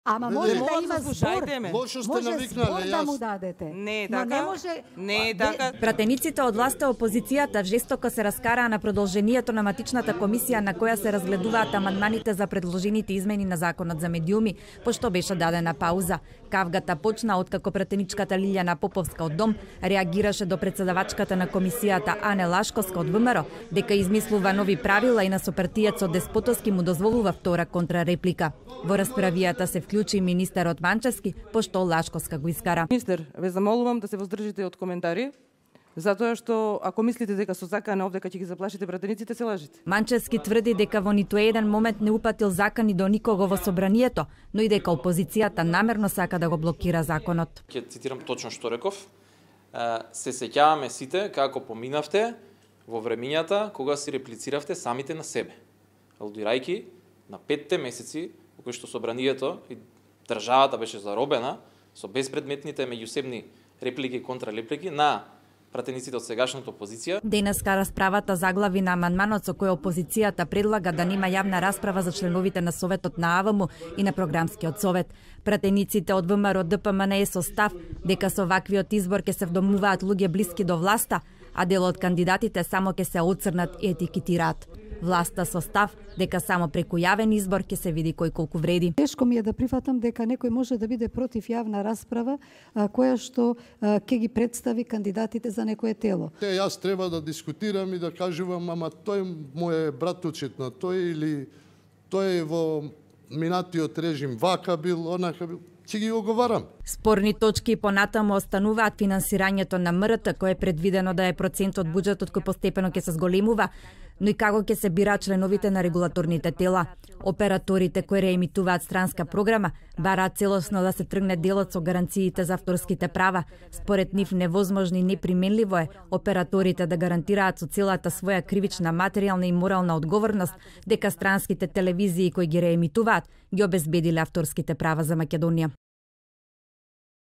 Ама може да има збор. Лошо сте Може навикнале, збор да му дадете. Не е Но така. не може... Не е така. Пратениците од власта опозицијата жестоко се раскараа на продолжението на матичната комисија на која се разгледуваат амандманите за предложените измени на законот за медиуми, пошто беше дадена пауза. Кавгата почна откако пратеничката Лилјана Поповска од Дом реагираше до председавачката на комисијата Ане Лашковска од ВМРО дека измислува нови правила и на сопартијецот Деспотовски му дозволува втора контрареплика. Во расправијата се вклучи министерот Манчевски, пошто Лашковска го искара. Министер, ве замолувам да се воздржите од коментари, затоа што ако мислите дека со закана овде ќе ги заплашите пратениците, се лажите. Манчевски тврди дека во ниту еден момент не упатил закани до никого во собранието, но и дека опозицијата намерно сака да го блокира законот. Ќе цитирам точно што реков. Се сеќаваме сите како поминавте во времињата кога си реплициравте самите на себе, алудирајќи на 5 месеци во кои што собранието и државата беше заробена со безпредметните меѓусебни реплики и контрареплики на пратениците од сегашната опозиција. Денеска расправата заглави на амандманот со кој опозицијата предлага да нема јавна расправа за членовите на Советот на АВМ и на Програмскиот совет. Пратениците од ВМРО ДПМН е со став дека со ваквиот избор ќе се вдомуваат луѓе блиски до власта, а дел од кандидатите само ќе се оцрнат и етикетираат. Власта со став дека само преку јавен избор ќе се види кој колку вреди. Тешко ми е да прифатам дека некој може да биде против јавна расправа која што ќе ги представи кандидатите за некое тело. Јас треба да дискутирам и да кажувам, ама тој му е братучет на тој или тој во минатиот режим вака бил, онака бил. Ќе ги оговарам. Спорни точки понатаму остануваат финансирањето на МРТ, кое е предвидено да е процент од буџетот кој постепено ќе се зголемува, но и како ќе се бираат членовите на регулаторните тела. Операторите кои реемитуваат странска програма бараат целосно да се тргне делот со гаранциите за авторските права. Според нив невозможно и неприменливо е операторите да гарантираат со целата своја кривична материјална и морална одговорност дека странските телевизии кои ги реемитуваат ги обезбедиле авторските права за Македонија.